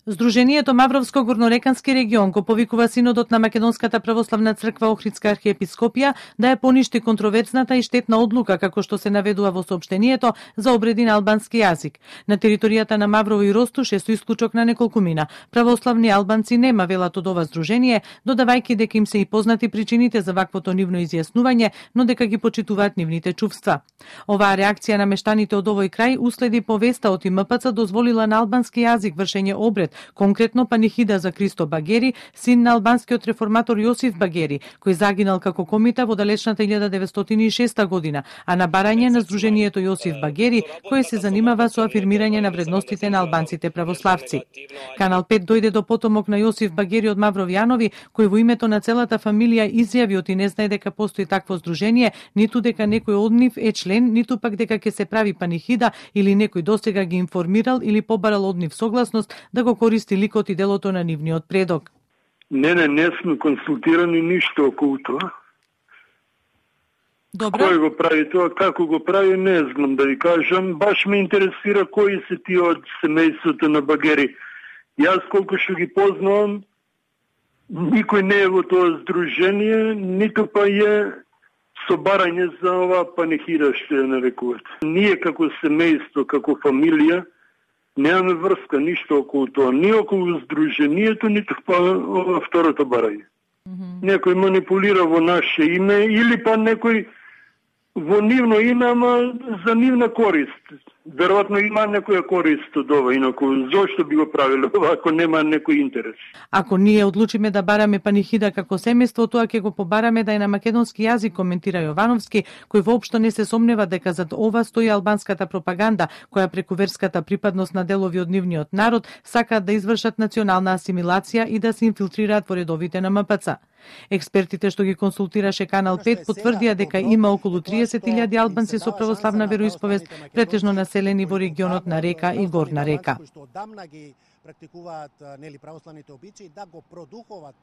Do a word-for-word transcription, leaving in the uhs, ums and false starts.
Здруженијето Мавровско-Горнорекански регион го повикува Синодот на Македонската православна црква Охридска архиепископија да ја поништи контроверзната и штетна одлука, како што се наведува во соопштението, за обреди на албански јазик. На територијата на Маврово и Ростуш е со исклучок на неколку мина. Православни албанци нема, велат од ова здружение, додавајќи дека им се и познати причините за ваквото нивно изјаснување, но дека ги почитуваат нивните чувства. Оваа реакција на мештаните од овој крај уследи повеста од И М П Ц дозволила на албански јазик вршење обред, конкретно панихида за Кристо Багери, син на албанскиот реформатор Јосиф Багери, кој загинал како комита во далечната илјада деветстотини и шеста година, а на барање на Здруженијето Јосиф Багери, кој се занимава со афирмирање на вредностите на албанците православци. Канал пет дојде до потомок на Јосиф Багери од Мавровјанови, кој во името на целата фамилија изјави оти не знае дека постои такво здружение, ниту дека некој од нив е член, ниту пак дека ќе се прави панихида или некој досега ги информирал или побарал од нив согласност да го користи ликот и делото на нивниот предок. Не, не, не сме консултирани ништо околу тоа. Добро. Кој го прави тоа, како го прави, не знам да ви кажам. Баш ме интересира кои се тие од семејството на Багери. Јас колку што ги познавам, никој не е во тоа здружение, ниту па е со барање за оваа панихида што ја нарекуват. Ние како семејство, како фамилија, немаме врска ништо околу тоа, ни околу здруженијето, ниту па ова второто барање. Mm -hmm. Некој манипулира во наше име или па некој во нивно име, ама за нивна корист. Веројатно има некоја корист од ова, инаку зошто би го правило ако нема некој интерес? Ако ние одлучиме да бараме панихида како семејство, тоа ќе го побараме да е на македонски јазик, коментира Јовановски, кој воопшто не се сомнева дека зад ова стои албанската пропаганда, која преку верската припадност на делови од нивниот народ сакаат да извршат национална асимилација и да се инфилтрираат во редовите на М П Ц. Експертите што ги консултираше Канал пет потврдија дека има околу триесет илјади албанци со православна вероисповест, претежно населени во регионот на Река и Горна Река.